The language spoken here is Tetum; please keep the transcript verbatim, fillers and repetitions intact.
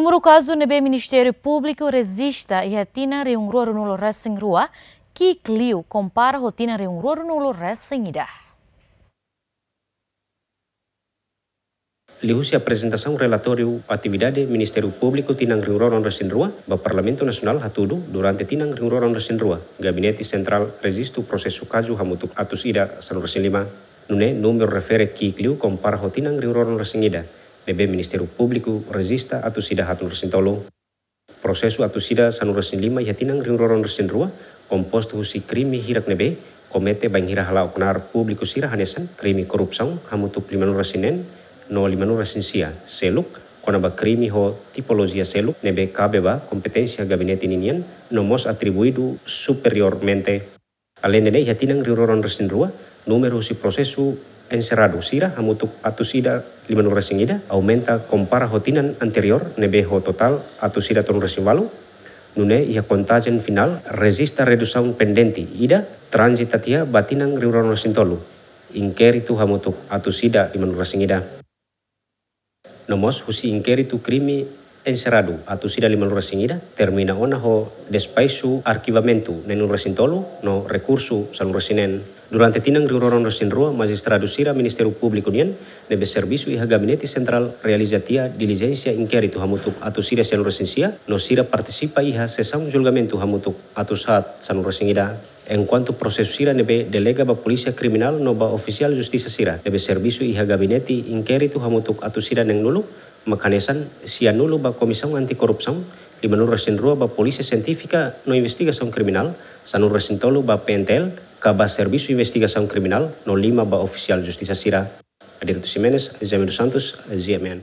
Númeru kazu ne'ebé Ministériu Públiku rejista iha tinan rihun rua ruanulu resin rua ki'ik liu kompara ho tinan rihun rua ruanulu resin ida. Liuhusi aprezentasaun relatóriu atividade Ministériu Públiku tinan rihun rua ruanulu resin rua ba Parlamentu Nasionál hatudu, durante tinan rihun rua ruanulu resin rua, Gabinete Sentrál rejistu prosesu kazu hamutuk atus ida sanulu resin lima. Nune'e númeru refere ki'ik liu kompara ho tinan rihun rua ruanulu resin ida, ne'ebé Ministériu Públiku rejista atus ida haatnulu resin tolu. Prosesu atus ida sanulu resin lima iha tinan rihun rua ruanulu resin rua kompostu husi krime hirak ne'ebé komete bainhira hala'o knaar públiku sira hanesan krime korrupsaun hamutuk limanulu resin neen no limanulu resin sia, seluk kona-ba krime ho tipolojia seluk ne'ebé kabe ba kompeténsia gabinete ninian no mós atribuidu superiormente. Aleinde ne'e, iha tinan rihun rua ruanulu resin rua, númeru husi prosesu enserradu sira hamutuk atus ida limanulu resin ida, aumenta kompara ho tinan anteriór ne'ebé ho totál atus ida tolunulu resin ualu. Nune'e iha kontajen finál rejista redusaun pendente ida, tranzita tiha ba tinan rihun rua ruanulu resin tolu, inkéritu hamutuk atus ida limanulu resin ida. No mós husi inkéritu krime enserradu atus ida limanulu resin ida, termina ona ho despaxu arkivamentu neenulu resin tolu no rekursu sanulu resin neen. Durante tinan rihun rua ruanulu resin rua, majistradu sira Ministériu Públiku nian ne'ebé servisu iha Gabinete Sentrál realiza tiha dilijénsia inkéritu hamutuk atus ida sanulu resin sia no sira partisipa iha sesaun julgamentu hamutuk atus haat sanulu resin ida. Enkuantu prosesu sira ne'ebé delega ba Polísia Kriminál no ba ofisiál justisa sira ne'ebé servisu iha Gabinete inkéritu hamutuk atus ida neenulu, mak hanesan sianulu ba Komisaun Anti-Korrupsaun, limanulu resin rua ba Polísia Sientífika no Investigasaun Kriminál, sanulu resin tolu ba P N T L ka ba Servisu Investigasaun Kriminál no lima ba ofisiál justisa sira. Adérito Ximenes, Jaime dos Santos, G M N.